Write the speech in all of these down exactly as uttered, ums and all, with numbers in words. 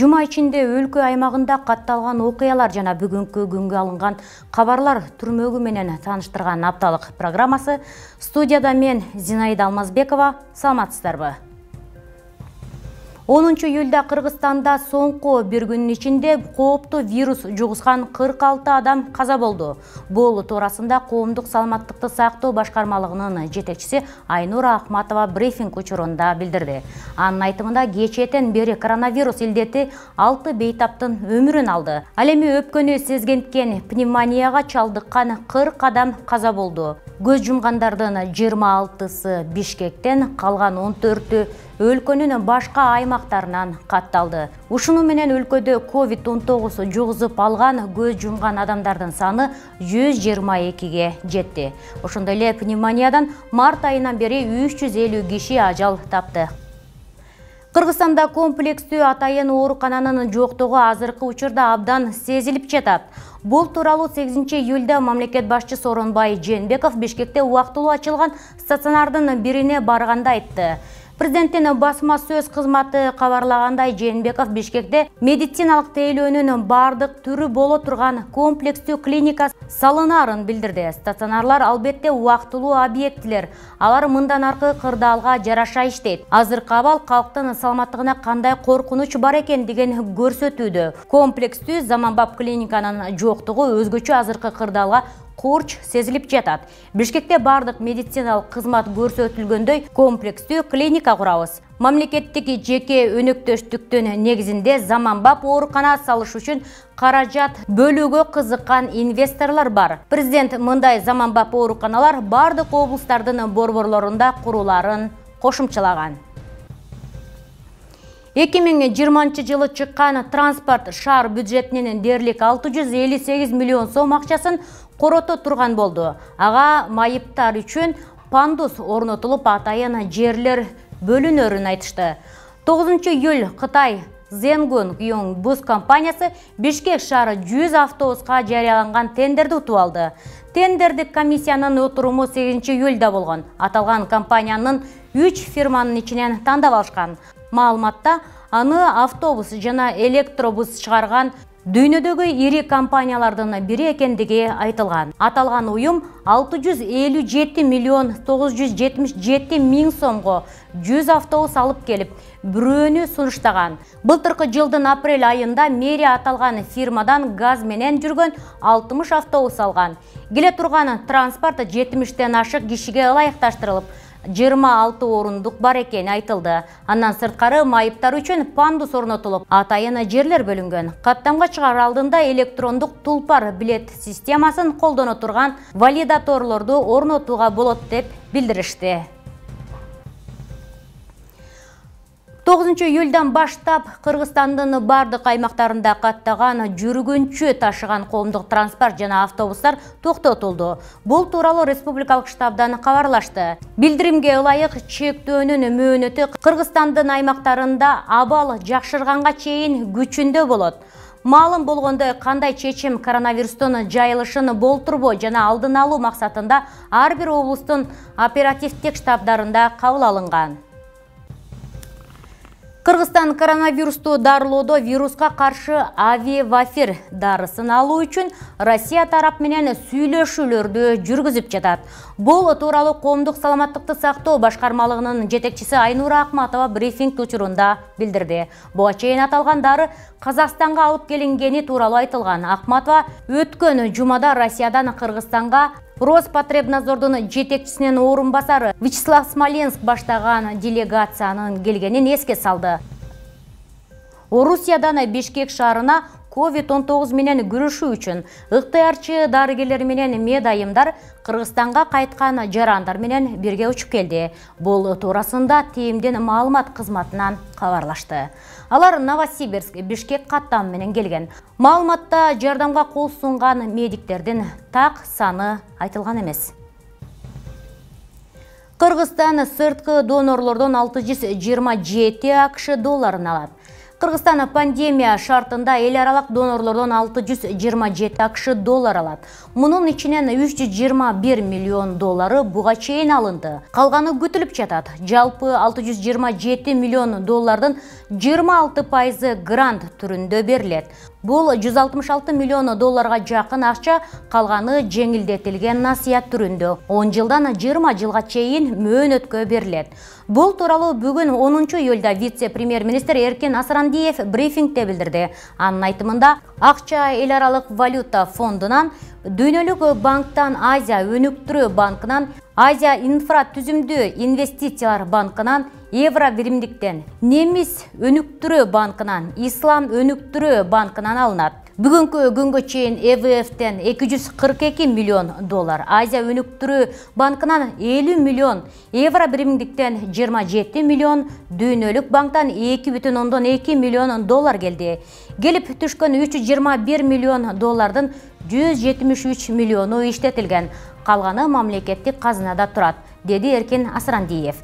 Жума ичинде өлкө аймагында катталган окуялар жана бүгүнкү күнгө алынган кабарлар түрмөгү менен тааныштырган апталык программасы. Студияда мен Зинаида Алмазбекова. Саламатсыздарбы? онунчу июлда Кыргызстанда соңку бир күнүн ичинде кооптуу вирус жугузган кырк алты адам каза болду. Бул туурасында коомдук саламаттыкты сактоо башкармалыгынын жетекчиси Айнура Ахматова брифинг учурунда билдирди. Анын айтымында кечээден бери коронавирус илдети алты бейтаптын өмүрүн алды. Ал эми өпкөнү сезгенткен пневмонияга чалдыккан кырк адам каза болду. Көз жумгандардын жыйырма алтысы Бишкектен, калган он төртү өлкөнүн башка аймактарынан катталды. Ушуну менен өлкөдө ковид он тогуз жугузуп алган көз жумган адамдардын саны жүз жыйырма экиге жетти. Ошондой эле пневмониядан март айынан бери үч жүз элүү киши ажал тапты. Кыргызстанда комплекстүү атайын оорукананын жоктугу азыркы учурда абдан сезилип жатат. Бул тууралуу сегизинчи июлда мамлекет башчысы Сооронбай Жээнбеков Бишкекте убактылуу ачылган стационардын бирине барганда айтты. Президенттин басма сөз кызматы кабарлагандай, Жээнбеков Бишкекте медициналык тейлөөнүн бардык түрү боло турган комплекстүү клиника салынаарын билдирди. Стационарлар албетте убактылуу объектилер. Алар мындан аркы кырдаалга жараша иштейт. Азыркы абал калктын саламаттыгына кандай коркунуч бар экендигин көрсөтүүдө. Комплекстүү заманбап клиниканын жоктугу өзгөчө азыркы кырдаалга курч сезилип жатат. Бишкекте бардык медициналык кызмат көрсөтүлгөндөй комплекстүү клиника курабыз. Мамлекеттик жеке өнөктөштүктүн негизинде заманбап оорукана салыш үчүн каражат бөлүүгө кызыккан инвесторлор бар. Президент мындай заманбап ооруканалар бардык облустардын борборлорунда куруларын кошумчалаган. эки миң жыйырманчы жылы чыккан транспорт шаар бюджетинин дээрлик алты жүз элүү сегиз миллион сом акчасын корото турган болду. Ага майыптар үчүн пандус орнотулуп, атайын жерлер бөлүнөрүн айтышты. тогузунчу июль Кытай Зенгун Бус компаниясы Бишкек шаары жүз автобуска жарыяланган тендерди утуп алды. Тендердик комиссиянын отуруму сегизинчи июлда болгон. Аталган компаниянын үч фирманын ичинен тандап алышкан. Маалыматта аны автобус жана электробус чыгарган дүйнөдөгү ири компаниялардын бири экендиги айтылган. Аталган уюм алты жүз элүү жети миллион тогуз жүз жетимиш жети миң сомго жүз автобус алып келип, бирөөнү сунуштаган. Былтыркы жылдын апрель айында мэрия аталган фирмадан газ менен жүргөн алтымыш автобус алган. Келе турган транспорт жетимиштен ашык кишиге ылайыкташтырылып, жыйырма алты орундук бар экени айтылды. Андан сырткары майыптар үчүн пандус орнотулуп, атайын жерлер бөлүнгөн. Каттамга чыгаар алдында электрондук тулпар билет системасын колдоно турган валидаторлорду орнотууга болот деп билдиришти. тогузунчу июлдан баштап Кыргызстандын бардык аймактарында каттаган жүргүнчү ташыган коомдук транспорт жана автобустар токтотулду. Бул тууралуу республикалык штабдан кабарлашты. Билдиримге ылайык чектөөнүн мөөнөтү Кыргызстандын аймактарында абал жакшырганга чейин күчүндө болот. Маалым болгондой, кандай чечим коронавирустун жайылышын болтурбоо жана алдын алуу максатында ар бир облустун оперативдик штабдарында кабыл алынган. Кыргызстан коронавирусту дарылоодо вируска каршы авивафир дарысын алуу үчүн Россия тарап менен сүйлөшүүлөрдү жүргүзүп жатат. Бул тууралуу коомдук саламаттыкты сактоо башкармалыгынын жетекчиси Айнура Ахматова брифинг учурунда билдирди. Буга чейин аталган дары Казакстанга алып келингени тууралуу айтылган. Ахматова өткөн жумада Россиядан Кыргызстанга Роспотребнадзордун жетекчисинин орун басары Вячеслав Смоленск баштаган делегациянын келгенин эске салды. Орусиядан Бишкек шаарына ковид он тогуз менен күрөшүү үчүн ыктыярчы дарыгерлер менен медайымдар Кыргызстанга кайткан жарандар менен бирге учуп келди. Бул туурасында ТИМдин маалымат кызматынан кабарлашты. Алар Новосибирск, Бишкек каттам менен келген. Маалыматта жардамга кол сунган медиктердин так саны айтылган эмес. Кыргызстан сырткы донорлордон алты жүз жыйырма жети акш долларын алат. Кыргызстан пандемия шартында эл аралык донорлордон алты жүз жыйырма жети акш доллар алат. Мунун ичинен үч жүз жыйырма бир миллион доллары буга чейин алынды. Калганы күтүлүп жатат. Жалпы алты жүз жыйырма жети миллион доллардын жыйырма алты пайызы грант түрүндө берилет. Бул жүз алтымыш алты миллион долларга жакын акча, калганы жеңилдетилген насыят түрүндө он жылдан жыйырма жылга чейин мөөнөткө берилет. Бул тууралуу бүгүн онунчу июлда вице-премьер-министр Эркин Асрандиев брифингде билдирди. Анын айтымында, акча эл аралык валюта фондунан, Дүйнөлүк банктан, Азия өнүктүрүү банкынан, Азия инфратүзүмдүү инвестициялар банкынан, Евро биримдиктен, Немис өнүктүрүү банкынан, Ислам өнүктүрүү банкынан алынат. Бүгүнкү күнгө чейин Э В Ф'тен эки жүз кырк эки миллион доллар, Азия өнүктүрүү банкынан элүү миллион, Евро биримдиктен жыйырма жети миллион, Дүйнөлүк банктан эки бүтүн ондон эки миллион доллар келди. Келип түшкөн үч жүз жыйырма бир миллион доллардын жүз жетимиш үч миллиону иштетилген. Калганы мамлекеттик казынада турат, деди Эркин Асрандиев.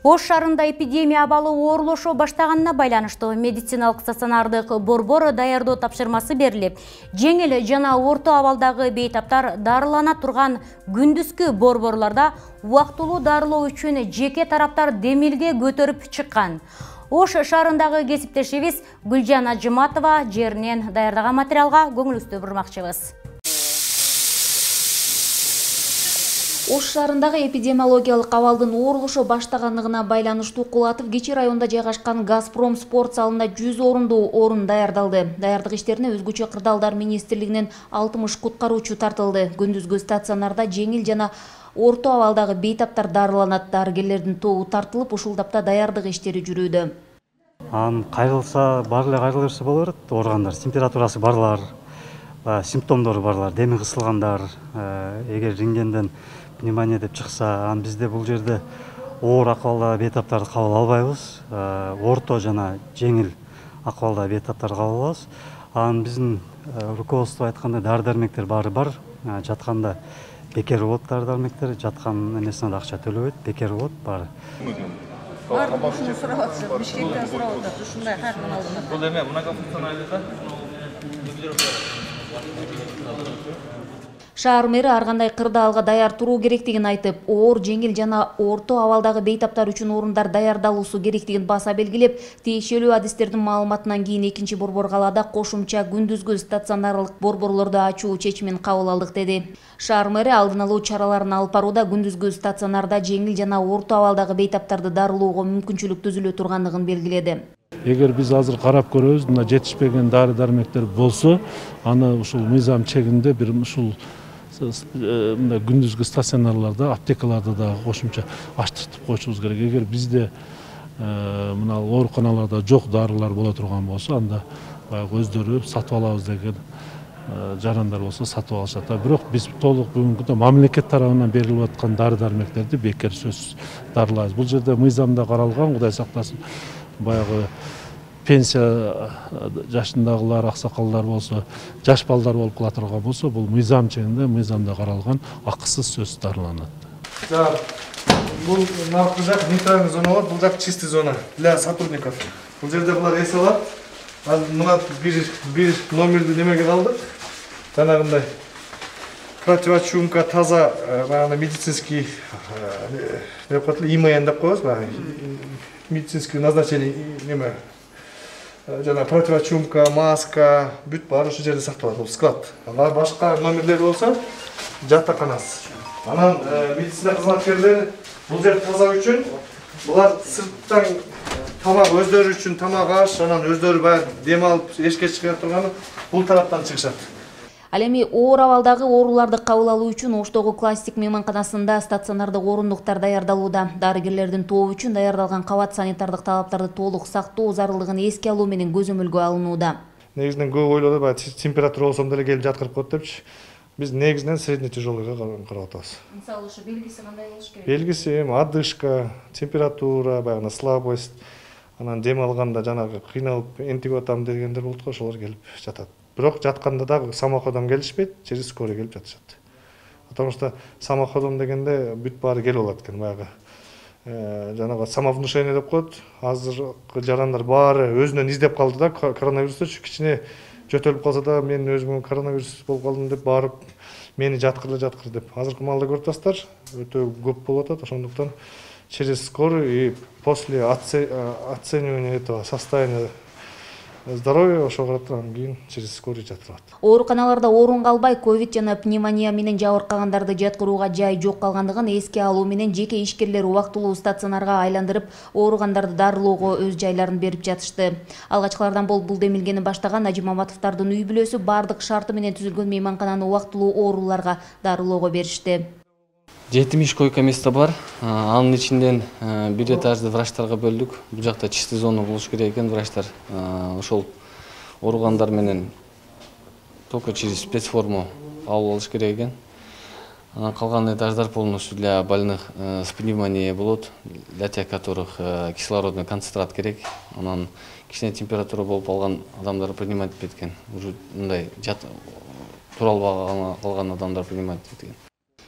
Ош шаарында эпидемия абалы оорлошо баштаганына байланыштуу медициналык стационардык борбор даярдоо тапшырмасы берилип, жеңил жана орто абалдагы бейтаптар дарылана турган күндүзгү борборлордо убактылуу дарылоо үчүн жеке тараптар демилге көтөрүп чыккан. Ош шаарындагы кесиптешибиз Гүлжан Ажыматова жеринен даярдаган материалга көңүлүңүздү бурмакчыбыз. Ош шаарындагы эпидемиологиялык абалдын оорлошо баштаганлыгына байланыштуу Кулатов Кичи районунда жайгашкан Газпром спорт залында жүз орундуу орун даярдалды. Даярдык иштерине өзгөчө кырдаалдар министрлигинен алтымыш куткаруучу тартылды. Күндүзгү стационарда жеңил жана орто абалдагы бейтаптар дарыланат. Дарыгерлердин тобу тартылып, ушул тапта даярдык иштери жүрүүдө. Анын кайрылса, бар эле кайрыла берсе боло берет. Ооругандар, температурасы барлар, симптомдору барлар, деми кысылгандар, эгер рентгенден пневмония деп чыкса, ан бизде бул жерде оор акыбалда бейтаптарды кабыл албайбыз. Орто жана жеңил акыбалда бейтаптарды кабыл алабыз. Анан биздин руководство айткандай дары-дармектер баары бар. Жатканда бекер болот дары-дармектер, жаткан эмесине да акча төлөбөйт, бекер болот баары. Баардык ушуну сурап атышат, Бишкектен сурап атат, ушундай кайрадан алдым. Бул эме многофункционалдыкка Шаар мэри ар кандай кырдаалга даяр туруу керектигин айтып, оор, жеңил жана орто абалдагы бейтаптар үчүн орундар даярдалуусу керектигин баса белгилеп, тиешелүү адистердин маалыматынан кийин экинчи борбор калаада кошумча күндүзгү стационарлык борборлорду ачуу чечимин кабыл алдык деди. Шаар мэри алдын алуу чараларын алып барууда күндүзгү стационарда жеңил жана орто абалдагы бейтаптарды дарылоого мүмкүнчүлүк түзүлө тургандыгын белгиледи. Эгер биз азыр карап көрөбүз, мына жетишпеген дары-дармектер болсо, аны ушул мыйзам чегинде бир ушул мына күндүзгү стационарларда, аптекаларда да кошумча ачтыртып коюшубуз керек. Эгер бизде мына ооруканаларда жок дарылар боло турган болсо, анда баягы өздөрү сатып алабыз деген жарандар болсо сатып алышат. Бирок биз толук бүгүнкү күндө мамлекет тарабынан берилип аткан дары-дармектерди бекер сөзсүз дарылайбыз. Бул жерде мыйзамда каралган, Кудай сактасын, баягы пенсия жашындагылар, аксакалдар болсо, жаш балдар болуп кала турган болсо, бул мыйзам чегинде, мыйзамда каралган акысыз сөзсүз дарыланат. Бул наркы жак нейтральный зона болот, бул жак чистый зона для сотрудников. Бул жерде булар эс алат. Мына бир бир номерди немеге алдык. Жанагындай противочумка, таза, баягы медицинский деп коет эле, ИМН деп коебуз, баягы медицинский назначение неме. Жана противочумка, маска, бүт баары ушул жерде сакталат, бул склад. Башка номерлер болсо жатаканасы. Анан медицина кызматкерлери бул жер таза үчүн булар сырттан тамак өздөрү үчүн тамак аш, анан өздөрү баягы дем алып эшикке чыга турганы бул тараптан чыгышат. Ал эми оор абалдагы ооруларды кабыл алуу үчүн Оштогу классик мейманканасында стационардык орундуктар даярдалууда. Дарыгерлердин тобу үчүн даярдалган кабат санитардык талаптарды толук сактоо зарылдыгын эске алуу менен көзөмөлгө алынууда. Негизинен көп ойлоду, баягы температура болсом деле келип жаткырып коет депчи. Биз негизинен средне тяжелыйга карап атабыз. Мисалы ушу белгиси кандай болуш керек? Белгиси эми одышка, температура, баягы слабость, анан дем алганда жанагы кыйналып энтип атам дегендер болот го, ошолор келип жатат. Бирок жатканда дагы самоходом келишпейт, через скорый келип жатышат. Потому что самоходом дегенде бүт баары келип алат экен, баягы жанагы самовнушение деп коет. Азыркы жарандар баары өзүнөн издеп калды да, коронавирустучу кичине жөтөлүп калса да мен өзүмө коронавирус болуп калдым деп барып мени жаткырды жаткыр деп. Азыркы маалда көрүп атасыздар, өтө көп болуп атат. Ошондуктан через скорый и после оценивания этого состояния здоровья ошого карап анан кийин через скорый жатырат. Ооруканаларда орун калбай ковид жана пневмония менен жабыркагандарды жаткырууга жай жок калгандыгын эске алуу менен жеке ишкерлер убактылуу стационарга айландырып, ооругандарды дарылоого өз жайларын берип жатышты. Алгачкылардан болуп бул демилгени баштаган Ажы Маматовдордун үй бүлөсү бардык шарты менен түзүлгөн мейманкананы убактылуу ооруларга дарылоого беришти. жетимиш койка место бар. Анын ичинден бир этажды врачтарга бөлдүк. Бул жакта чистый зона болуш керек экен. Врачтар ошол ооругандар менен только через спецформу алып алыш керек экен. Калган этаждар полностью для больных с пневмонией болот, для тех, которых кислородный концентрат керек. Анан кичине температура болуп алган адамдар принимать этпейт экен. Уже мындай жат туралбай калган адамдар принимать этпейт экен.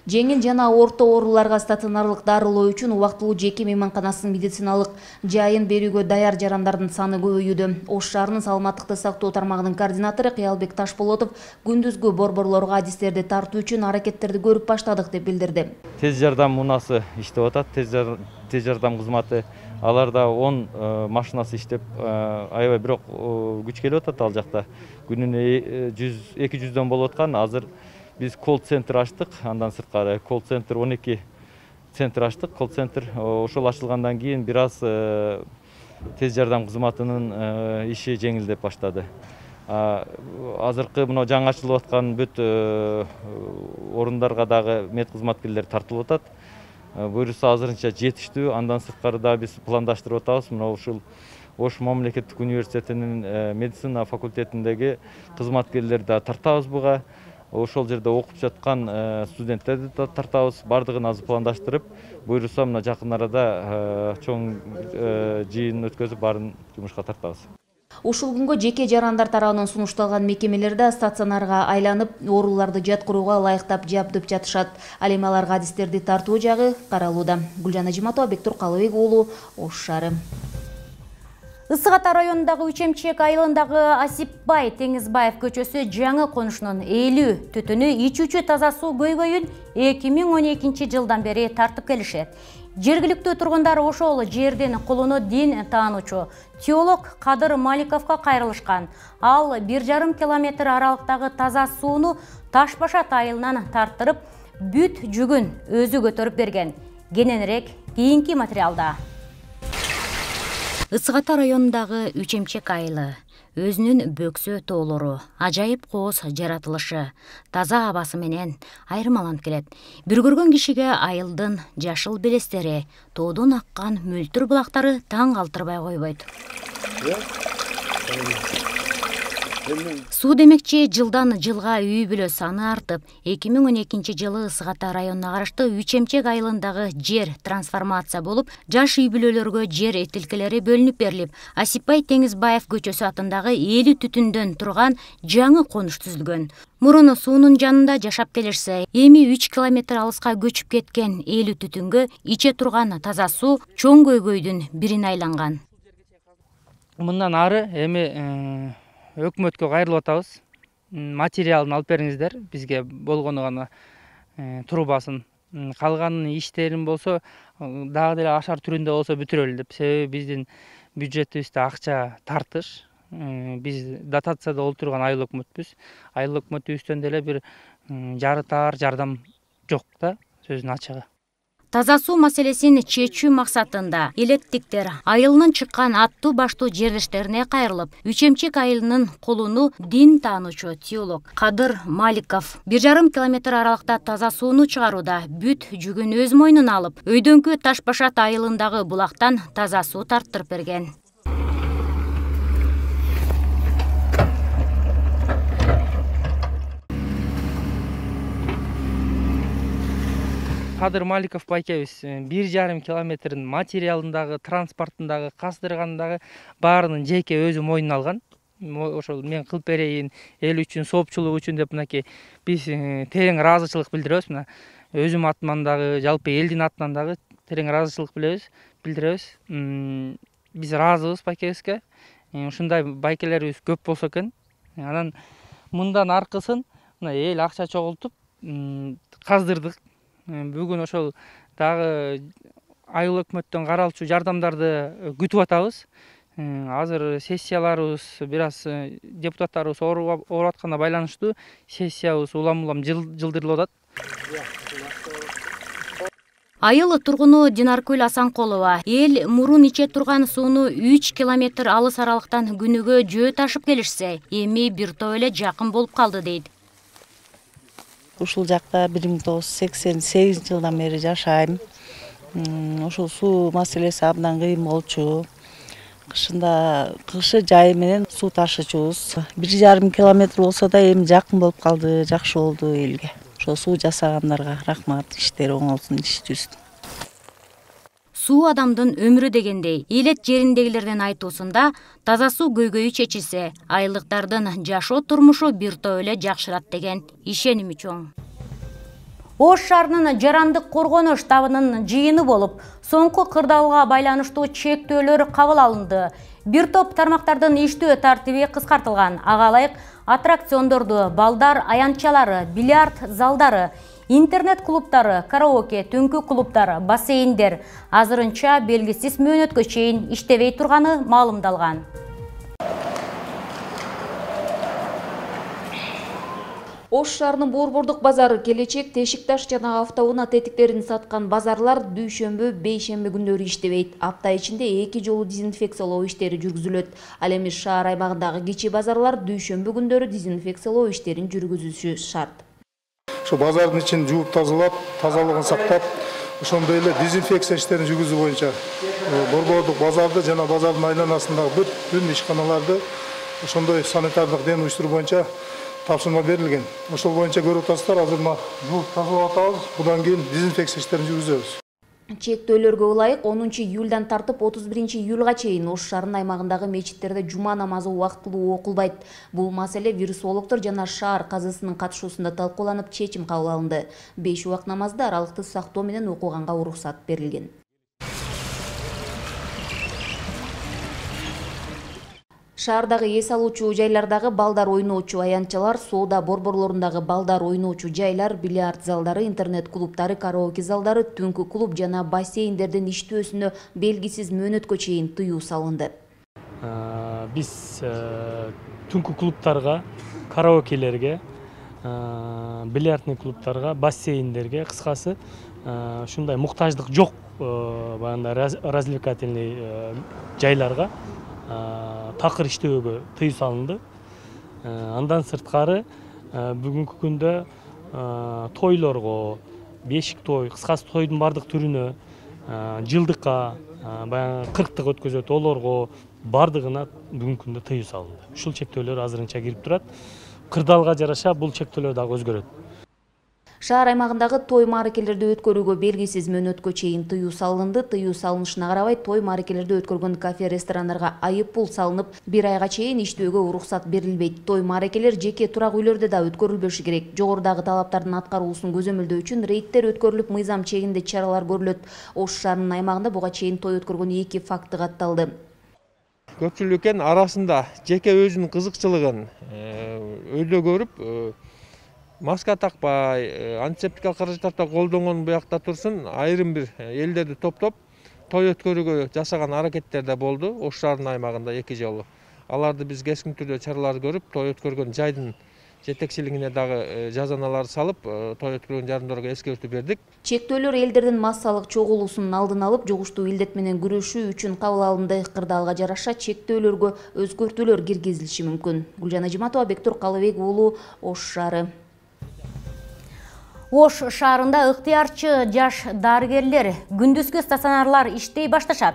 Жеңил жана орто ооруларга стационарлык дарылоо үчүн убактылуу жеке мейманканасынын медициналык жайын берүүгө даяр жарандардын саны көбөйүүдө. Ош шаарынын саламаттыкты сактоо тармагынын координатору Кыялбек Ташполотов күндүзгү борборлорго адистерди тартуу үчүн аракеттерди көрүп баштадык деп билдирди. Тез жардам унасы иштеп атат, тез жардам кызматы. Аларда он машинасы иштеп, аябай бирок күч келип атат ал жакта. Күнүнө эки жүздөн болуп аткан. Азыр biz колл-центр аштык, андан сырткары колл-центр он эки центр аштык. Колл-центр ошол ачылгандан кийин бир аз тез жардам кызматынын иши жеңилдеп баштады. Азыркы мына жаңы ачылып аткан бүт орундарга дагы мед кызматкерлер тартылып атат. Буюрса азырынча жетиштүү. Андан сырткары да биз пландаштырып атабыз. Мына ушул Ош мамлекеттик университетинин медицина факультетиндеги кызматкерлерди да тартабыз буга. Ошол жерде окуп жаткан студенттерди тартабыз, бардыгын азыр пландаштырып, буйруса мына жакын арада чоң жыйын өткөзүп баарын жумушка тартабыз. Ушул күнгө жеке жарандар тарабынан сунушталган мекемелерде стационарга айланып, ооруларды жаткырууга ылайыктап жабдып жатышат. Ал эми аларга адистерди тартуу жагы каралууда. Гүлжан Ажиматова, Бектур Калыбек уулу, Ош шаары. Ысык Ата районундагы Үчемчек айылындагы Асипбай Теңизбаев көчөсү жаңы конушунун элүү түтүнү ичүүчү таза суу көйгөйүн эки миң он экинчи жылдан бери тартып келишет. Жергиликтүү тургундар ошол жердин кулуну дин таануучу теолог Кадыр Маликовго кайрылышкан. Ал бир жарым километр аралыктагы таза сууну Таш Башат айылынан тарттырып, бүт жүгүн өзү көтөрүп берген. Кененирээк кийинки материалда. Ысык Ата районундагы Үчемчек айылы өзүнүн бөксө тоолору, ажайып кооз жаратылышы, таза абасы менен айырмаланып келет. Бир көргөн кишиге айылдын жашыл белестери, тоодон аккан мөлтүр булактары таң калтырбай койбойт. Суу демекчи жылдан жылга үй бүлө саны артып, эки миң он экинчи жылы Ысык Ата районуна карашты Үчемчек айылындагы жер трансформация болуп, жаш үй бүлөлөргө жер этилкелери бөлүнүп берилип, Асипбай Теңизбаев көчөсү атындагы элүү түтүндөн турган жаңы конуш түзүлгөн. Мурун суунун жанында жашап келишсе, эми үч километр алыска көчүп кеткен элүү түтүнгө иче турган таза суу чоң көйгөйдүн бирине айланган. Мындан ары эми өкмөткө кайрылып атабыз. Материалын алып бериңиздер, бизге болгону гана трубасын. Калган иштерин болсо дагы деле ашар түрүндө болсо бүтүрөлү деп. Себеби биздин бюджетибизде акча тартыш. Биз дотацияда олтурган айыл өкмөтпүз. Айыл өкмөтүбүздөн деле бир жарытаар жардам жок да, сөзүнүн ачыгы. Таза суу маселесин чечүү максатында элеттиктер айылынан чыккан аттуу баштуу жерлештерине кайрылып, Үчемчек айылынын кулуну дин таануучу теолог Кадыр Маликов бир жарым километр аралыкта таза сууну чыгарууда бүт жүгүн өз мойнуна алып, өйдөнкү Таш Башат айылындагы булактан таза суу тарттырып берген. Кадыр Маликов байкебиз бир жарым километрдин материалындагы, транспортундагы, каздыргандагы баарынын жеке өзү мойнуна алган. Ошол мен кылып берейин, эл үчүн, соопчулук үчүн деп мынакей биз терең ыраазычылык билдиребиз. Мына өзүм атыман дагы, жалпы элдин атынан дагы терең ыраазычылык билебиз, билдиребиз. Биз ыраазыбыз байкебизге. Ушундай байкелерибиз көп болсо экен. Анан мындан аркысын мына эл акча чогултуп каздырдык. Бүгүн ошол дагы айыл өкмөттөн каралчу жардамдарды күтүп атабыз. Азыр сессияларыбыз бир аз депутаттарыбыз ооруп атканга байланыштуу сессиябыз улам-улам жылдырылып атат. Айыл тургуну Динаркүл Асанкулова эл мурун иче турган сууну үч километр алыс аралыктан күнүгө жөө ташып келишсе, эми бир топ эле жакын болуп калды дейт. Ушул жакта бир миң тогуз жүз сексен сегизинчи жылдан бери жашайм. Ошол суу маселеси абдан кыйын болчу. Кышында кышы жайы менен суу ташычубуз. бир жарым километр болсо да эми жакын болуп калды, жакшы болду элге. Ошо суу жасагандарга рахмат, иштери оңолсун, иш жүзсүн. Суу адамдын өмүрү дегендей, элет жериндегилердин айтуусунда таза суу көйгөйү чечилсе, айылдыктардын жашоо турмушу бир топ эле жакшырат деген ишеними чоң. Ош шаарынын жарандык коргонуш штабынын жыйыны болуп, соңку кырдаалга байланыштуу чектөөлөр кабыл алынды. Бир топ тармактардын иштөө тартиби кыскартылган. Ага ылайык аттракциондорду, балдар аянтчалары, бильярд залдары, интернет клубтары, караоке, түнкү клубтар, бассейндер азырынча белгисиз мөөнөткө чейин иштебей турганы маалымдалган. Ош шаарынын борбордук базары келечек тешик таш жана автоунаа тетиктерин саткан базарлар дүйшөмбү, бейшемби күндөрү иштебейт. Апта ичинде эки жолу дезинфекциялоо иштери жүргүзүлөт. Ал эми шаар аймагындагы кичи базарлар дүйшөмбү күндөрү дезинфекциялоо иштерин жүргүзүшү шарт. Ошо базардын ичин жууп тазалап, тазалыгын сактап, ошондой эле дезинфекция иштерин жүргүзүү боюнча борбордук базарды жана базардын айланасындагы бүт ишканаларды ошондой санитардык ден уюштуруу боюнча тапшырма берилген. Ошол боюнча көрүп атасыздар, азыр мына жууп тазалап атабыз, будан кийин дезинфекция иштерин жүргүзөбүз. Чектөөлөргө ылайык онунчу июлдан тартып отуз биринчи июлга чейин Ош шаарынын аймагындагы мечиттерде жума намазы убактылуу окулбайт. Бул маселе вирусологдор жана шаар казысынын катышуусунда талкууланып чечим кабыл алынды. беш убак намазды аралыкты сактоо менен окуганга уруксат берилген. Шаардагы эс алуучу жайлардагы балдар ойноочу аянтчалар, соода борборлорундагы балдар ойноочу жайлар, бильярд залдары, интернет клубтары, караоке залдары, түнкү клуб жана бассейндердин иштөөсүнө белгисиз мөөнөткө чейин тыюу салынды. Биз түнкү клубтарга, караокелерге, бильярдный клубтарга, бассейндерге, кыскасы ушундай муктаждык жок баягындай развлекательный жайларга такыр иштөөгө тыюу салынды. Андан сырткары бүгүнкү күндө тойлорго, бешик той, кыскасы тойдун бардык түрүнө, жылдыкка, баягы кырктык өткөзөт, олорго бардыгына бүгүнкү күндө тыюу салынды. Ушул чектөөлөр азырынча кирип турат. Кырдаалга жараша бул чектөөлөр дагы өзгөрөт. Шаар аймагындагы той мааракелерди өткөрүүгө белгисиз мөөнөткө чейин тыюу салынды. Тыюу салынышына карабай той мааракелерди өткөргөн кафе ресторандарга айып пул салынып, бир айга чейин иштөөгө уруксат берилбейт. Той мааракелер жеке турак үйлөрдө да өткөрүлбөшү керек. Жогорудагы талаптардын аткарылуусун көзөмөлдөө үчүн рейдтер өткөрүлүп, мыйзам чегинде чаралар көрүлөт. Ош шаарынын аймагында буга чейин той өткөргөн эки факты катталды. Көпчүлүктүн арасында жеке өзүнүн кызыкчылыгын өйдө көрүп, маска такпай, антисептикалык каражаттарды колдонгон буякта турсун, айрым бир элдерди топтоп той өткөрүүгө жасаган аракеттер да болду. Ош шаарынын аймагында эки жолу. Аларды биз кескин түрдө чаралар көрүп, той өткөргөн жайдын жетекчилигине дагы жазаналар салып, той өткөргөн жардамдарга эскертүү бердик. Чектөөлөр элдердин массалык чогулуусунун алдын алып, жугуштуу илдет менен күрөшүү үчүн кабыл алынды. Кырдаалга жараша чектөөлөргө өзгөртүүлөр киргизилиши мүмкүн. Гүлжан Ажиматова, Бектур Калыбек уулу, Ош шаары. Ош шаарында ыктыярчы жаш дарыгерлер, күндүзгү стационарлар иштей башташат.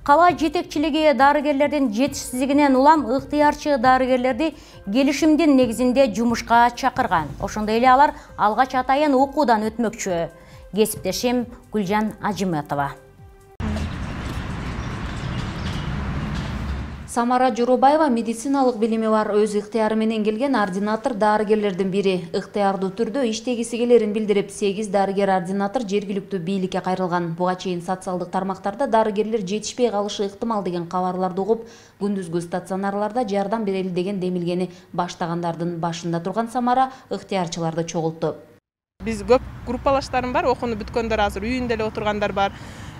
Кала жетекчилиги дарыгерлердин жетишсиздигинен улам ыктыярчы дарыгерлерди келишимдин негизинде жумушка чакырган. Ошондой эле алар алгач атайын окуудан өтмөкчү. Кесиптешим Гүлжан Ажиматова. Самара Жоробаева медициналык билими бар, өз ыктыяры менен келген ординатор дарыгерлердин бири. Ыктыярдуу түрдө иштегиси келерин билдирип, сегиз дарыгер ординатор жергиликтүү бийликке кайрылган. Буга чейин социалдык тармактарда дарыгерлер жетишпей калышы ыктымал деген кабарларды угуп, күндүзгү стационарларда жардам берели деген демилгени баштагандардын башында турган Самара ыктыярчыларды чогултту. Биз көп группалаштарым бар, окууну бүткөндөр азыр үйүндө эле отургандар бар.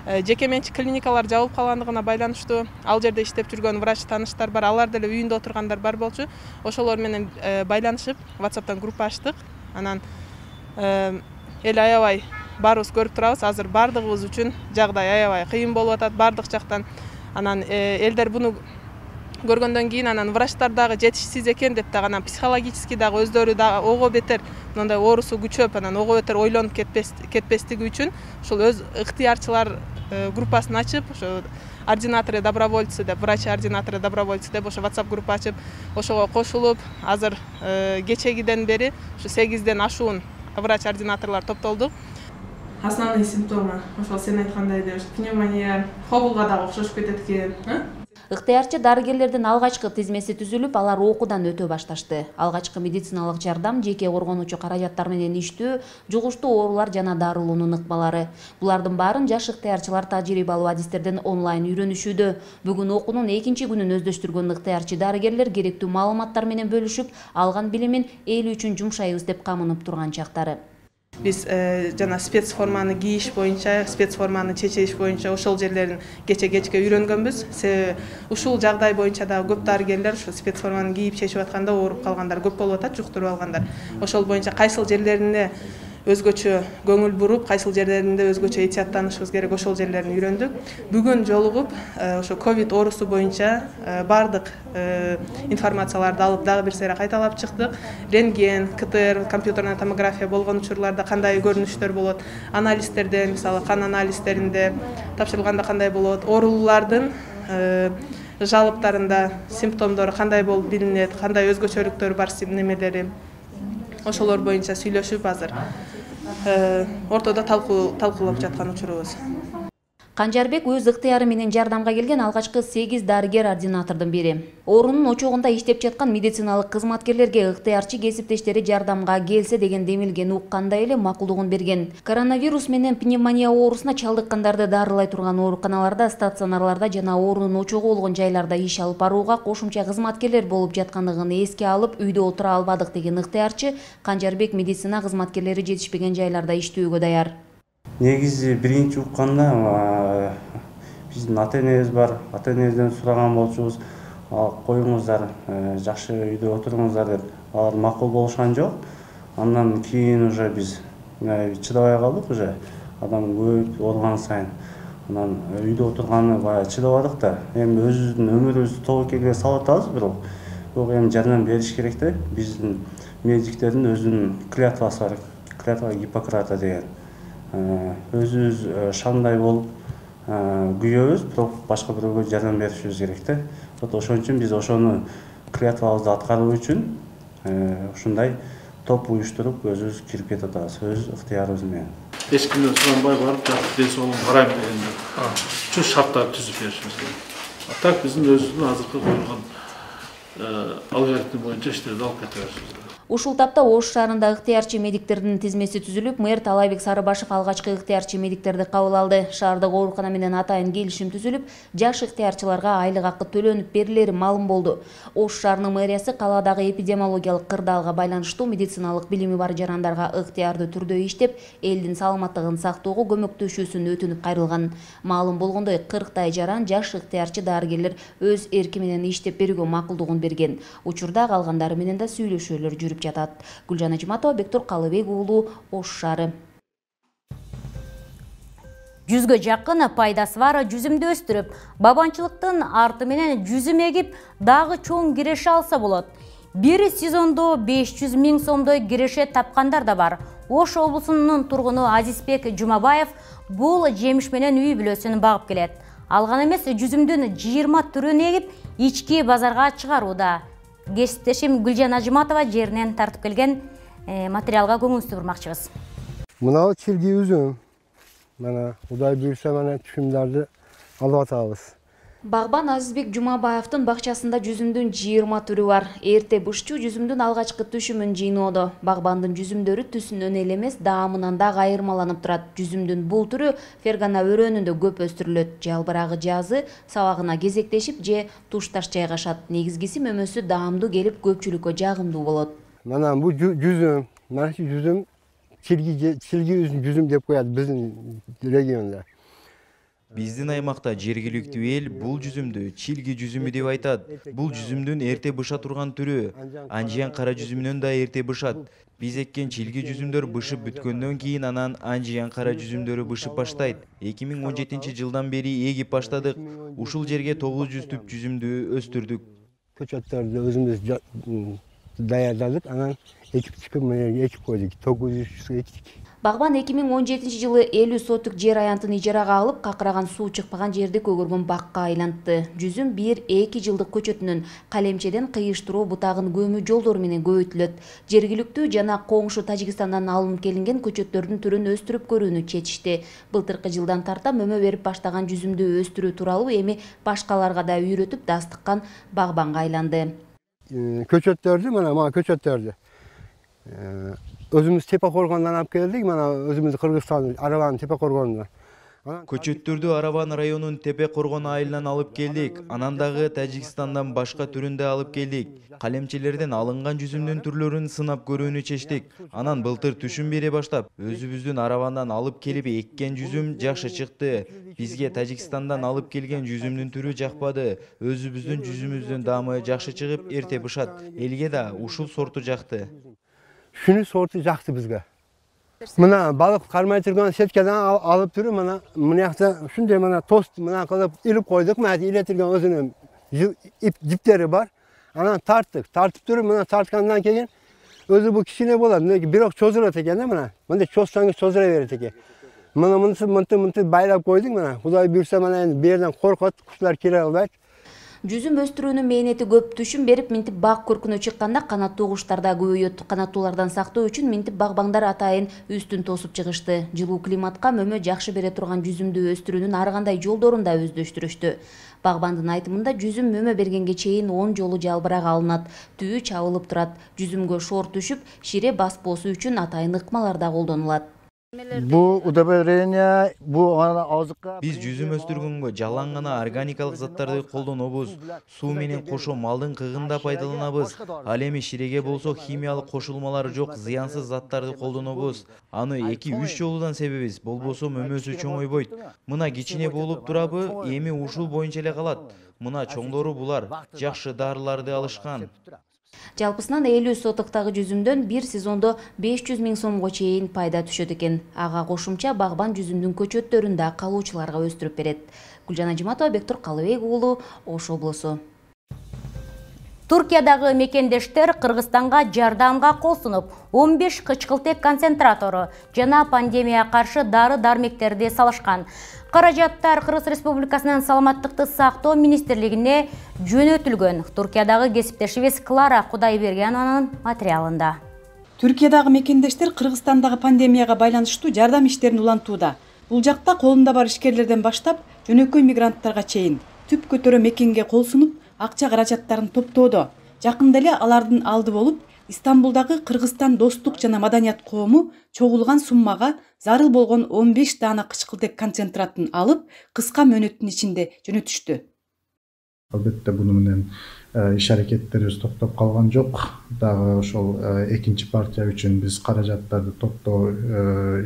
Жеке менчик клиникалар жабылып калгандыгына байланыштуу ал жерде иштеп жүргөн врач тааныштар бар, алар деле үйүндө отургандар бар болчу. Ошолор менен байланышып WhatsApp'тан группа ачтык. Анан эл аябай баарыбыз көрүп турабыз, азыр бардыгыбыз үчүн жагдай аябай кыйын болуп атат бардык жактан. Анан элдер буну көргөндөн кийин анан врачтар дагы жетишсиз экен деп дагы анан психологически дагы өздөрү дагы ого бетер мындай оорусу күчөп, анан ого бетер ойлонуп кетпес кетпестиги үчүн ушул өз ыктыярчылар группасын ачып, ошо ординаторы добровольцы деп, врач ординаторы добровольцы деп ошо WhatsApp группа ачып, ошого кошулуп, азыр кечегиден бери ушу сегизден ашуун врач ординаторлор топтолдук. Основной симптомы ошол сен айткандай эле пневмония, хобулга дагы окшошуп кетет экен. Ыктыярчы дарыгерлердин алгачкы тизмеси түзүлүп, алар окуудан өтө башташты. Алгачкы медициналык жардам, жеке коргонуучу каражаттар менен иштөө, жугуштуу оорулар жана дарылоонун ыкмалары. Булардын баарын жаш ыктыярчылар тажрыйбалуу адистерден онлайн үйрөнүшүүдө. Бүгүн окуунун экинчи күнүн өздөштүргөн ыктыярчы дарыгерлер керектүү маалыматтар менен бөлүшүп, алган билимин эл үчүн жумшайбыз деп камынып турган чактары. Биз жана спецформаны кийиш боюнча, спецформаны чечиш боюнча ошол жерлерин кече-кечке үйрөнгөнбүз. Ушул жагдай боюнча дагы көп дарыгерлер ушу спецформаны кийип чечип атканда ооруп калгандар көп болуп атат, жуктуруп алгандар. Ошол боюнча кайсыл жерлерине өзгөчө көңүл буруп, кайсыл жерлеринде өзгөчө этияттанышыбыз керек, ошол жерлерин үйрөндүк. Бүгүн жолугуп, ошо ковид оорусу боюнча бардык информацияларды алып, дагы бир сере кайталап чыктык. Рентген, КТР, компьютерная томография болгон учурларда кандай көрүнүштөр болот, анализдерден, мисалы кан анализдеринде тапшырылганда кандай болот, оорулардын жалыптарында симптомдору кандай болуп билинет, кандай өзгөчөлүктөр бар немелери. Ошолор боюнча сүйлөшүп азыр ортодо талкуулап жаткан учурубуз. Канжарбек өз ыктыяры менен жардамга келген алгачкы сегиз дарыгер ординатордун бири. Оорунун очогунда иштеп жаткан медициналык кызматкерлерге ыктыярчы кесиптештери жардамга келсе деген демилгени уккандай эле макулдугун берген. Коронавирус менен пневмония оорусуна чалдыккандарды дарылай турган ооруканаларда, стационарларда жана оорунун очогу болгон жайларда иш алып барууга кошумча кызматкерлер болуп жаткандыгын эске алып, үйдө отура албадык деген ыктыярчы Канжарбек медицина кызматкерлери жетишпеген жайларда иштөөгө даяр. Негизи биринчи укканда биздин ата-энебиз бар, ата-энебизден сураган болчубуз, коюңуздар, жакшы үйдө отуруңуздар деп, алар макул болушкан жок. Андан кийин уже биз чыдабай калдык, уже адам көп ооруган сайын. Анан үйдө отурганы баягы чыдабадык да. Эми өзүбүздүн өмүрүбүздү тобокелге салып атабыз, бирок бирок эми жардам бериш керек да. Биздин медиктердин өзүнүн клятвасы бар, клятва Гиппократа деген. Өзүбүз шандай болуп күйөбүз, бирок башка бирөөгө жардам беришибиз керек да. Вот ошон үчүн биз ошону клятвабызды аткаруу үчүн ушундай топ уюштуруп өзүбүз кирип кетип атабыз, өз ыктыярыбыз менен. Эч кимден суранбай барып, ден соолугун карайм дегенде чоң шарттарды түзүп беришибиз керек. Так биздин өзүбүздүн азыркы койгон алгоритм боюнча иштерди алып кете беришибиз керек. Ушул тапта Ош шаарында ыктыярчы медиктердин тизмеси түзүлүп, мэр Талайбек Сарыбашев алгачкы ыктыярчы медиктерди кабыл алды. Шаардык оорукана менен атайын келишим түзүлүп, жаш ыктыярчыларга айлык акы төлөнүп берилери маалым болду. Ош шаарынын мэриясы калаадагы эпидемиологиялык кырдаалга байланыштуу медициналык билими бар жарандарга ыктыярдуу түрдө иштеп, элдин саламаттыгын сактоого көмөктөшүүсүн өтүнүп кайрылган. Маалым болгондой, кырктай жаран жаш ыктыярчы дарыгерлер өз эрки менен иштеп берүүгө макулдугун берген. Учурда калгандары менен да сүйлөшүүлөр жүрүп жатат. Гүлжан Ажматова, Бектур Калыбек уулу, Ош шаары. Жүзгө жакын пайдасы бар жүзүмдү өстүрүп, бабанчылыктын арты менен жүзүм эгип, дагы чоң киреше алса болот. Бир сезондо беш жүз миң сомдой киреше тапкандар да бар. Ош облусунун тургуну Азизбек Жумабаев бул жемиш менен үй бүлөсүн багып келет. Алган эмес, жүзүмдүн жыйырма түрүн эгип, ички базарга чыгарууда. Кесиптешим Гүлжан Ажматова жеринен тартып келген материалга көңүлсүз бурмакчыбыз. Мынау чилги үзүм. Мана Кудай буйрса мана түшүмдөрдү алып атабыз. Багбан Азизбек Жумабаевдин бакчасында жүзүмдүн жыйырма түрү бар. Эрте бышчу жүзүмдүн алгачкы түшүмүн жыйноодо. Багбандын жүзүмдөрү түсүнөн эле эмес, даамынан да айырмаланып турат. Жүзүмдүн бул түрү Фергана өрөөнүндө көп өстүрүлөт. Жалбырагы жазы сабагына кезектешип же тушташ жайгашат. Негизгиси мөмөсү даамдуу келип көпчүлүккө жагымдуу болот. Мана бул жүзүм, мана şu жүзүм чилги чилги жүзүм деп коет биздин региондо. Биздин аймакта жергиликтүү эл бул жүзүмдү чилги жүзүмү деп айтат. Бул жүзүмдүн эрте быша турган түрү. Анжиян кара жүзүмүнөн да эрте бышат. Биз эккен чилги жүзүмдөр бышып бүткөндөн кийин анан анжиян кара жүзүмдөрү бышып баштайт. эки миң он жетинчи жылдан бери эгип баштадык. Ушул жерге тогуз жүз түп жүзүмдү өстүрдүк. Көчөттөрдү өзүбүз даярдадык, анан экип чыгып экип койдук. тогуз жүз эктик. Багбан эки миң он жетинчи жылы элүү соттук жер аянтын ижарага алып, какыраган суу чыкпаган жерди көгөргөн бакка айлантты. Жүзүм бир эки жылдык көчөтүнүн калемчеден кыйыштыруу бутагын көмүү жолдору менен көбөйтүлөт. Жергиликтүү жана коңшу Тажикстандан алынып келинген көчөттөрдүн түрүн өстүрүп көрүүнү чечишти. Былтыркы жылдан тарта мөмө берип баштаган жүзүмдү өстүрүү тууралуу эми башкаларга да үйрөтүп дастыккан багбанга айланды. Көчөттөрдү, мана мага көчөттөрдү өзүбүз Тепе Коргондон алып келдик, мана өзүбүз Кыргызстан Арабанын Тепе Коргонунан. Көчөттөрдү Арабан районунун Тепе Коргон айылынан алып келдик. Анан дагы Тажикстандан башка түрүндө алып келдик. Калемчелерден алынган жүзүмдүн түрлөрүн сынап көрүүнү чечтик. Анан былтыр түшүм бере баштап, өзүбүздүн Арабандан алып келип эккен жүзүм жакшы чыкты. Бизге Тажикстандан алып келген жүзүмдүн түрү жакпады. Өзүбүздүн жүзүмүздүн даамы жакшы чыгып, эрте бышат. Элге да ушул сорту жакты. Шуну сорту жакты бизге. Мына балык кармай турган сеткадан алып туруп, мына мынакта ушундай мына тост мына кылып илип койдук. Мына иле турган өзүнүн ип жиптери бар. Анан тарттык. Тартып туруп, мына тарткандан кийин өзү бул кичине болот, бирок чозулат экен да мына. Мындай чозсаңыз чозура берет экен. Мына мынтип мынтип мынтип байлап койдук мына. Кудай буйрса мына эми бу жерден коркот, куштар кире албайт. Жүзүм өстүрүүнүн мээнети көп. Түшүм берип минтип бак көркүнө чыкканда канаттуу куштар да көбөйөт. Канаттуулардан сактоо үчүн минтип багбаңдар атайын үстүн тосуп чыгышты. Жылуу климатка мөмө жакшы бере турган жүзүмдү өстүрүүнүн ар кандай жолдорун да өздөштүрүштү. Багбандын айтымында жүзүм мөмө бергенге чейин он жолу жалбырак алынат, түбү чабылып турат. Жүзүмгө шор түшүп, шире баспоосу үчүн атайын ыкмалар да колдонулат. Бу удобрение, бу азыкка биз жүзүм өстүргөнгө жалаң гана органикалык заттарды колдонобуз. Суу менен кошо малдын кыгында пайдаланабыз. Ал эми ширеге болсо химиялык кошулмалар жок зыянсыз заттарды колдонобуз. Аны эки үч жолудан себебиз, болбосо мөмөсү чоңойбойт. Мына кичине болуп турабы, эми ушул боюнча эле калат. Мына чоңдору булар, жакшы дарыларды алышкан. Жалпысынан элүү сотуктагы жүзүмдөн бир сезондо беш жүз миң сомго чейин пайда түшөт экен. Ага кошумча багбан жүзүмдүн көчөттөрүн да калуучуларга өстүрүп берет. Гүлжан Ажиматова, Бектур Калыбек уулу, Ош облусу. Туркиядагы мекендештер Кыргызстанга жардамга кол сунуп, он беш кычкылтек концентратору жана пандемияга каршы дары-дармектерди салышкан. Каражаттар Кыргыз Республикасынын Саламаттыкты сактоо министрлигине жөнөтүлгөн. Туркиядагы кесиптешибиз Клара Кудайбергенованын материалында. Түркиядагы мекендештер Кыргызстандагы пандемияга байланыштуу жардам иштерин улантууда. Бул жакта колунда бар ишкерлерден баштап жөнөкөй мигранттарга чейин түп көтөрө мекенге кол сунуп, акча каражаттарын топтоодо. Жакында эле алардын алды болуп, Истамбулдагы Кыргызстан достук жана маданият коому чогулган суммага зарыл болгон он беш даана кычкылтек концентратын алып, кыска мөөнөттүн ичинде жөнөтүштү. Албетте буну менен иш аракеттерибиз токтоп калган жок. Дагы ошол экинчи партия үчүн биз каражаттарды топтоо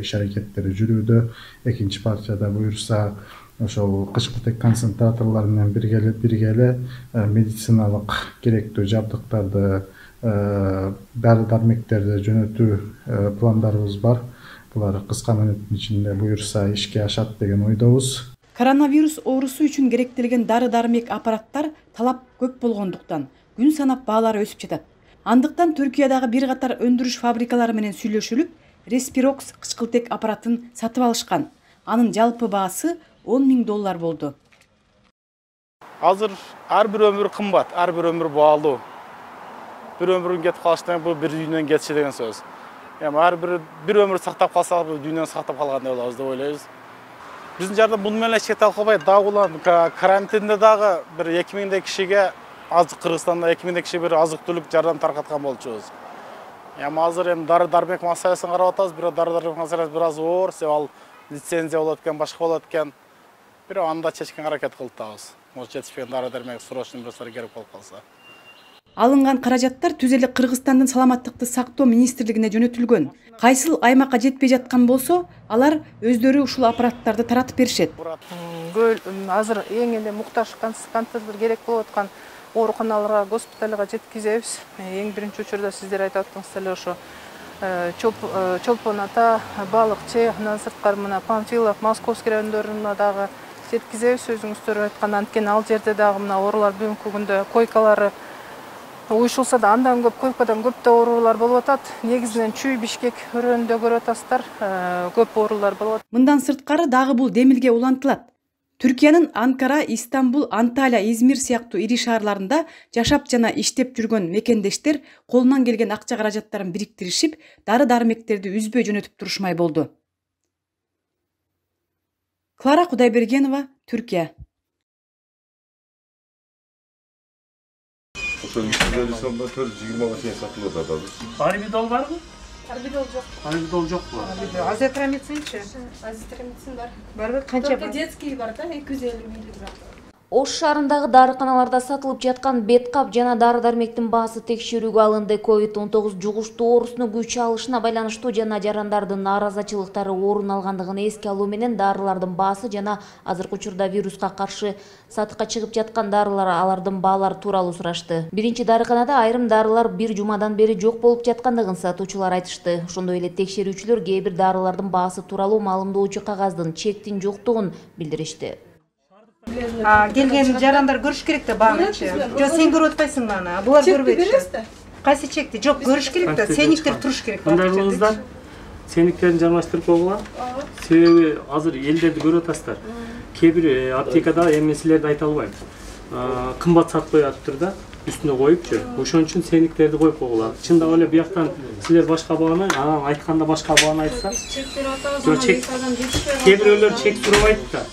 иш аракеттери жүрүүдө. Экинчи партияда буюрса ошол кычкылтек концентраторлор менен бирге эле медициналык керектүү жабдыктарды, дары-дармектерди жөнөтүү пландарыбыз бар. Булар кыска мөөнөттүн ичинде буюрса ишке ашат деген ойдобуз. Коронавирус оорусу үчүн керектелген дары-дармек аппараттар талап көп болгондуктан күн санап баалары өсүп жатат. Андыктан Түркиядагы бир катар өндүрүш фабрикалары менен сүйлөшүлүп, Respirox кычкылтек аппаратын сатып алышкан. Анын жалпы баасы он миң доллар болду. Азыр ар бир өмүр кымбат, ар бир өмүр баалуу. Бир өмүрүн кетип калыштан бул бир дүйнөнүн кетиши деген сөз. Эми ар бир бир өмүр сактап калсак, бул дүйнөнү сактап калгандай болобуз деп ойлойбуз. Биздин жардам муну менен эч кете албайт. Дагы улам карантинде дагы бир эки миңдей кишиге азык Кыргызстанда эки миңдей киши бир азык-түлүк жардам таркаткан болчубуз. Эми азыр эми дары-дармек маселесин карап атабыз. Бирок дары-дармек маселеси бир аз оор, себеби ал лицензия болот экен, башка болот экен. Бирок аны да чечкенге аракет кылып атабыз. Может жетишпеген дары-дармек срочный бирсер керек болуп калса. Алынган каражаттар түз эле Кыргызстандын саламаттыкты сактоо министрлигине жөнөтүлгөн. Кайсыл аймакка жетпей жаткан болсо, алар өздөрү ушул аппараттарды таратып беришет. Азыр эң эле муктаж кантиптир керек болуп аткан ооруканаларга, госпиталга жеткизебиз. Эң биринчи учурда сиздер айтып аттыңыздар эле ошо Чолпон ата, Балыкчы, андан сырткары мына Панфилов, Московский райондоруна дагы жеткизебиз. Өзүңүздөр айткан, анткени ал жерде дагы мына оорулар бүгүнкү күндө койкалары уюшулса да андан көп, койкадан көп да оорулар болуп атат. Негизинен Чүй, Бишкек өрөөнүндө көрүп атасыздар, көп оорулар болуп атат. Мындан сырткары дагы бул демилге улантылат. Түркиянын Анкара, Истанбул, Анталия, Измир сыяктуу ири шаарларында жашап жана иштеп жүргөн мекендештер колунан келген акча каражаттарын бириктиришип, дары-дармектерди үзбөй жөнөтүп турушмай болду. Клара Кудайбергенова, Түркия. Ошо үчтөн сомдо төрт жүз жыйырмага чейин сатылып атабыз. Арбидол барбы? Арбидол жок. Арбидол жокпу? Азитромицинчи? Азитромицин бар. Барбы? Канча бар? Детский бар да, эки жүз элүү миллиграмм. Ош шаарындагы дарыканаларда сатылып жаткан беткап жана дары-дармектин баасы текшерүүгө алынды. ковид он тогуз жугуштуу оорусунун күч алышына байланыштуу жана жарандардын нааразычылыктары орун алгандыгын эске алуу менен дарылардын баасы жана азыркы учурда вируска каршы сатыкка чыгып жаткан дарылар алардын баалары тууралуу сурашты. Биринчи дарыканада айрым дарылар бир жумадан бери жок болуп жаткандыгын сатуучулар айтышты. Ошондой эле текшерүүчүлөр кээ бир дарылардын баасы тууралуу маалымдоочу кагаздын чектин жоктугун билдиришти. Келген жарандар көрүш керек да баанычы. Жо сен көрүп атпайсыңбы аны? Булар көрбөйт. Кайсы чекти? Жок, көрүш керек да. Сениктер туруш керек. Мындай кылыңыздар. Сениктерин жармаштырып койгула. Себеби азыр элдерди көрүп атасыздар. Кээ бир аптекада эми силерди айта албайм. Кымбат сатып коюп атыптыр да, үстүнө коюпчу. Ошон үчүн сениктерди коюп койгула. Чындап эле бияктан силер башка бааны, анан айтканда башка бааны айтса. Кээ бирөөлөр чек сурабайт да.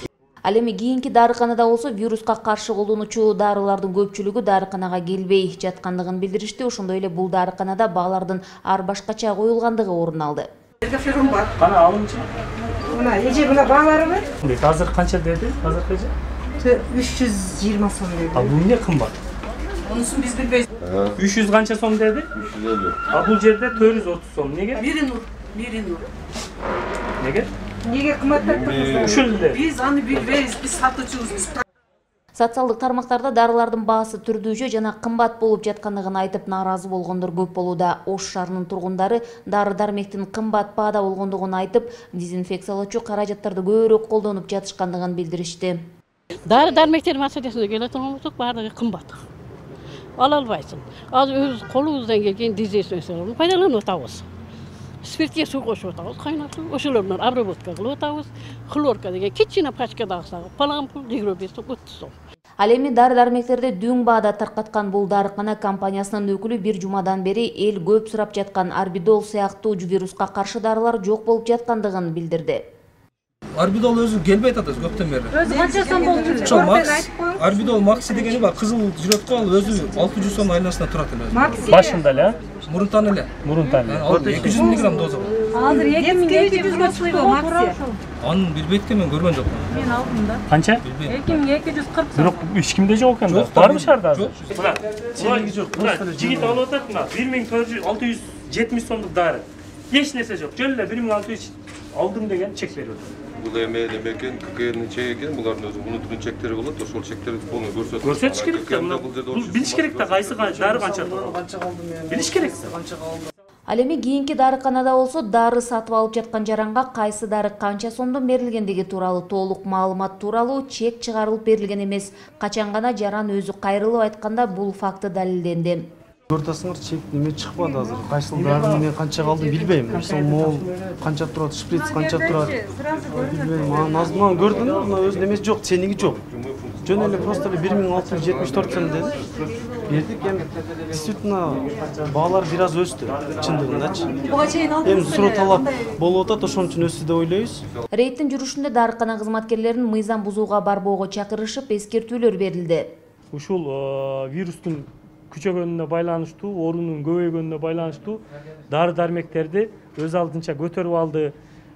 Ал эми кийинки дарыканада болсо вируска каршы колдонуучу дарылардын көпчүлүгү дарыканага келбей жаткандыгын билдиришти. Ошондой эле бул дарыканада баалардын ар башкача коюлгандыгы орун алды. Эргаферум бар. Кана алыңчы. Мына эже мына баалары бар. Азыр канча деди? Азыркы эже? үч жүз жыйырма сом деди. А бул эмне кымбат? Онусун биз билбейбиз. үч жүз канча сом деди? үч жүз элүү. А бул жерде төрт жүз отуз сом. Неге? Бири нур, бири нур. Неге? Неге кымбаттаттыңыздар? Ушул эле. Биз аны билбейбиз, биз сатуучубуз. Социалдык тармактарда дарылардын баасы түрдүүчө жана кымбат болуп жаткандыгын айтып нааразы болгондор көп болууда. Ош шаарынын тургундары дары-дармектин кымбат баада болгондугун айтып, дезинфекциялоочу каражаттарды көбүрөөк колдонуп жатышкандыгын билдиришти. Дары-дармектер маселесине келе турган болсок, баардыгы кымбат. Ала албайсың. Азыр өз колубуздан келген дезинфекцияларды пайдаланып атабыз. Спиртке су кошуп атабыз, кайнатып, ошолордон обработка кылып атабыз. Хлорка деген кичине пачкадагы сагып, палампул жыйырма беш сом отуз сом. Ал эми дары-дармектерди дүң баада таркаткан бул дарыкана компаниясынын өкүлү бир жумадан бери эл көп сурап жаткан арбидол сыяктуу вируска каршы дарылар жок болуп жаткандыгын билдирди. Арбидол өзү келбей атат көптөн бери. Өзү канча сом болчу? Ошо Макс, Арбидол Макси дегени бар, кызыл жүрөт го, ал өзү алты жүз сом айланасына турат эле. Макси башында эле, мурунтан эле. Мурунтан. эки жүз миллиграмм доза бар. Азыр эки миң эки жүзгө чыкты Макси. Аны билбейт экен, мен көргөн жокмун. Мен алдым да. Канча? эки миң эки жүз кырк сом. Бирок эч кимде жок экен да. Барбы шаарда азыр? Мына, чеги жок. Жигит алып атат мына бир миң алты жүз жетимиш сомдук дары. Эч нерсе жок. Жөн эле бир миң алты жүз алдым деген чек берип атат. Бул эме неме экен, ККНдин чеги экен, булардын өзү внутренний чектери болот, ошол чектерди полный көрсөтөт. Көрсөтүш керек да, мына билиш керек да, кайсы дары канча. Канча калды мен? Билиш керек. Канча калды? Ал эми кийинки дарыканада болсо дары сатып алып жаткан жаранга кайсы дары канча сомдон берилгендиги тууралуу толук маалымат тууралуу чек чыгарылып берилген эмес. Качан гана жаран өзү кайрылып айтканда бул факты далилденди. Көрүп атасыңар, чек неме чыкпады азыр. Кайсыл дары менен канча калды билбейм. Мисалы мол канча турат, шприц канча турат. Билбейм. Анан азыр көрдүңүзбү, мына өзү немеси жок, ценниги жок. жөн эле просто эле бир миң алты жүз жетимиш төрт сом деди. Бердик. Эми действительно баалар бир аз өстү, чындыгындачы. Буга чейин Эми суроо талап болуп атат, ошон үчүн өстү деп ойлойбуз. Рейдтин жүрүшүндө дарыкана кызматкерлерин мыйзам бузууга барбоого чакырышып, эскертүүлөр берилди. Ушул вирустун күчөгөнүнө байланыштуу, оорунун көбөйгөнүнө байланыштуу дары-дармектерди өз алдынча көтөрүп алды,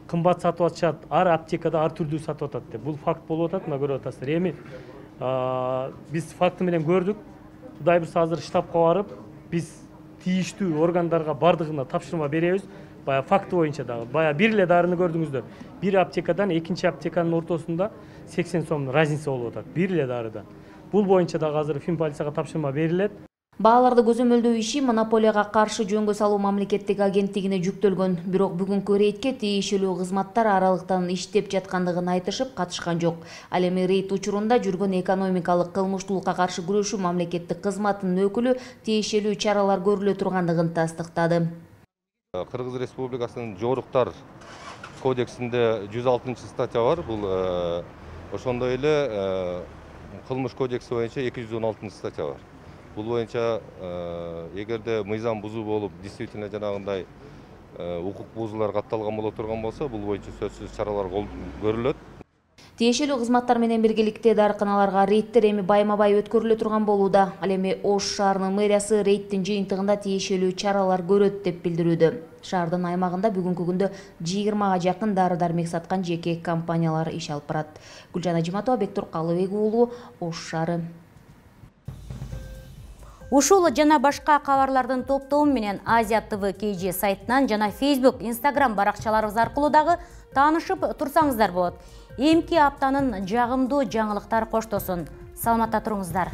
кымбат сатып атышат, ар аптекада ар түрдүү сатып атат деп. Бул факт болуп атат, мына көрүп атасыздар. Эми биз факты менен көрдүк. Кудай буйрса азыр штабка барып, биз тийиштүү органдарга бардыгына тапшырма беребиз. Бая факты боюнча дагы. Бая бир эле дарыны көрдүңүздөр. Бир аптекадан экинчи аптеканын ортосунда сексен сомдун разница болуп атат. Бир эле дарыдан. Бул боюнча дагы азыр финполицияга тапшырма берилет. Бааларды көзөмөлдөө иши монополияга каршы жөнгө салуу мамлекеттик агенттигине жүктөлгөн. Бирок бүгүнкү рейдке тиешелүү кызматтар аралыктан иштеп жаткандыгын айтышып, катышкан жок. Ал эми рейд учурунда жүргөн экономикалык кылмыштуулукка каршы күрөшүү мамлекеттик кызматынын өкүлү тиешелүү чаралар көрүлө тургандыгын тастыктады. Кыргыз Республикасынын жоруктар кодексинде жүз алтынчы статья бар. Бул ошондой эле кылмыш кодекси боюнча эки жүз он алтынчы статья бар. Бул боюнча эгерде мыйзам бузуу болуп, действительно жанагындай укук бузуулар катталган боло турган болсо, бул боюнча сөзсүз чаралар көрүлөт. Тиешелүү кызматтар менен биргеликте дарыканаларга рейдтер эми байма-бай өткөрүлө турган болууда. Ал эми Ош шаарынын мэриясы рейдтин жыйынтыгында тиешелүү чаралар көрөт деп билдирүүдө. Шаардын аймагында бүгүнкү күндө жыйырмага жакын дары-дармек саткан жеке компаниялар иш алып барат. Гүлжан Ажиматова, Бектур Калыбек уулу, Ош шаары. Ушул жана башка кабарлардын топтому менен Азия ТВ кей же сайтынан жана Facebook, Instagram баракчаларыбыз аркылуу дагы таанышып турсаңыздар болот. Эмки аптанын жагымдуу жаңылыктар коштосун. Саламатта туруңуздар.